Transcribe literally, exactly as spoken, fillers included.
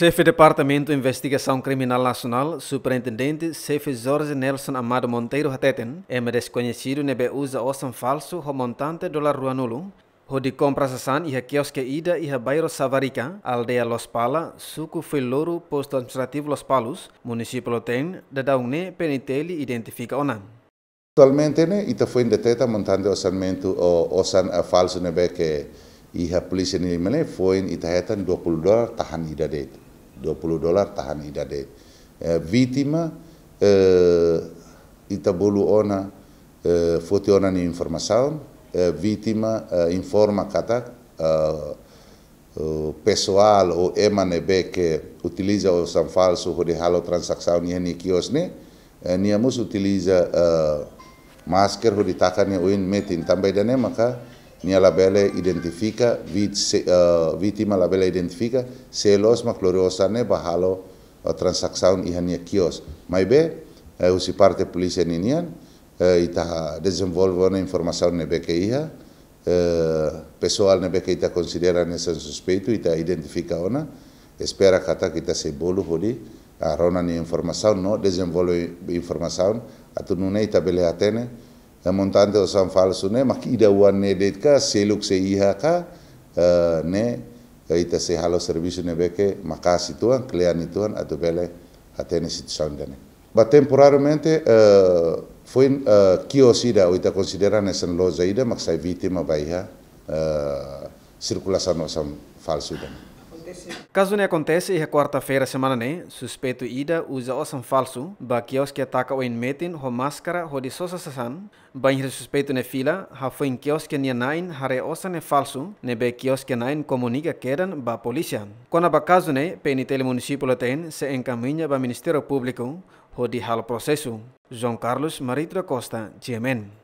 Xefe Departamentu Investigasaun Kriminál Nasionál, Superintendente Xefe Jorge Nelson Amado Monteiro hateten, ema deskoñesidu ne'ebé uza osan falsu ho montante dolar ruanulu, hodi kompra sasán iha kioske ida iha bairru Savarika, aldeia Los Pala, suku Fuiloro, postu administrativu Lospalos, munisípiu Loteng, daudaun ne'e P N T L identifika ona. Atualmente ne'e, ita foin deteta montante orsamentu ou osan, eh, falsu ne'ebé ke iha polísia nian ne'e, foin ita hetan dua puluh dolar tahan ida de'it. Dua puluh dolar tahan ida de'it. Eh, vítima, eh, ita bolu ona, eh, foti ona nia informasaun, eh, vítima, eh, informa katak, eh, eh, pesoál ou ema ne'ebé ke utiliza osan falsu hodi halo tranzasaun iha nia kios ne'e, eh, nia mós utiliza, eh, masker hodi taka nia oin metin, tanba ida-ne'e maka nia labele identifika, vit-, se-, eh, vítima labele identifika sé loos mak lori osan ne'e ba halo, eh, tranzasaun iha nia kios. Maibé, eh, husi parte polísia ninian, eh, ita dezenvolve ona informasaun ne'ebé ke iha, eh, pesoál ne'ebé ke ita konsidera hanesan suspeitu, ita identifika ona, espera katak ita sei bolu hodi, ah, rona nia informasaun no dezenvolve informasaun, atu nune'e ita bele hatene, eh, montante osan falsu ne'e mak ida oan ne'e de'it ka, seluk sei iha ka, eh, ne'e, eh, ita sei halo servisu ne'ebé ke maka'as uitoan, kle'an uitoan, atu bele hatene situasaun ida-ne'e. Ba temporariamente, eh, foin, eh, kios ida, ou ita konsidera hanesan loja ida, mak sai vítima ba iha, eh, sirkulasaun osan falsu ida-ne'e. Kazu ne'e akontese iha kuarta-feira semana ne'e, suspeitu ida uza osan falsu ba kioske taka oin metin ho máskara hodi sosa sasán, bainhira suspeitu ne'e fila, hafoin kioske nia na'in haree osan ne'e falsu, ne'ebé kioske na'in komunika kedan ba polísia. Kona-ba kazu ne'e, P N T L munisípiu Loteng sei enkamiña ba Ministériu Públiku hodi halo prosesu. João Carlos Marito da Costa, G M N.